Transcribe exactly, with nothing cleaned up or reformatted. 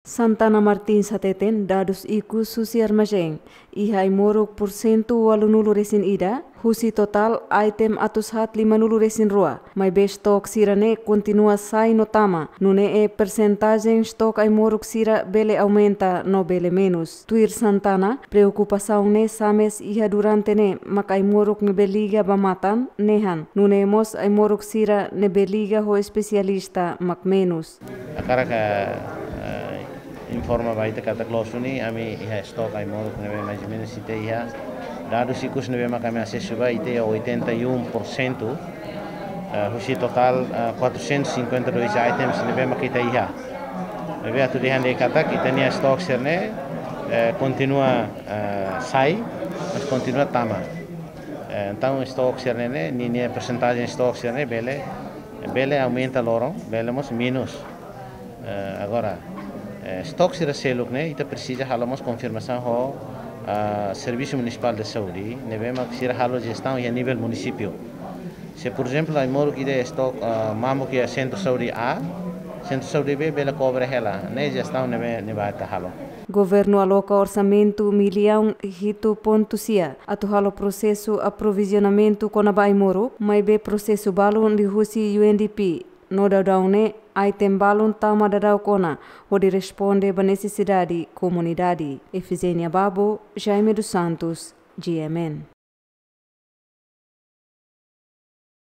Santana Martins hateten dadus ikus husi armazén iha ai-moruk pursentu ualunulu resin ida husi totál item atus haat limanulu resin rua, maibé stok sira-ne'e kontinua sai no tama, nune'e persentajen stok ai-moruk sira bele aumenta no bele menus. Tuir Santana, preokupasaun ne'e sa'e iha durante ne'e mak ai-moruk ne'ebé liga ba matan nehan, nune'e mós ai-moruk sira ne'ebé liga ho espesialista mak menus. Hakarak, eh, informa ba ita katak loos duni ami iha stok ai-moruk ne'ebé mais ou menus ita iha. Dadus ikus ne'ebé mak ami asesu ba ita iha oitenta e um por cento, eh, husi totál, eh, quatrocentos e cinquenta e dois items ne'ebé mak ita iha. Maibé atu dehan de'it katak ita-nia stok sira-ne'e, eh, kontinua, eh, sai, mas kontinua tama. Eh, entaun stok sira-ne'e, ninia persentajen stok sira-ne'e bele, bele aumenta loron, bele mós menus. Eh, agora, eh, stok sira seluk ne'e, ita presiza halo mós konfirmasaun ho, ah, Servisu Munisipál de Saúde, ne'ebé mak sira halo jestaun iha nivel munisípiu. Se, por ezemplu, ai-moruk ida stok, ah, mamuk iha sentru saúde A, sentru saúde B bele kobre hela, ne'e jestaun ne'ebé, ne'ebé ita halo. Governu aloka orsamentu millaun hitu pontu sia atu halo prosesu aprovizionamentu kona-ba ai-moruk, maibé prosesu balun liuhusi U N D P, no daudaun ne'e item balun tama daudauk ona hodi responde ba nesesidade komunidade. Efigénia Babo, Jaime dos Santos, G M N.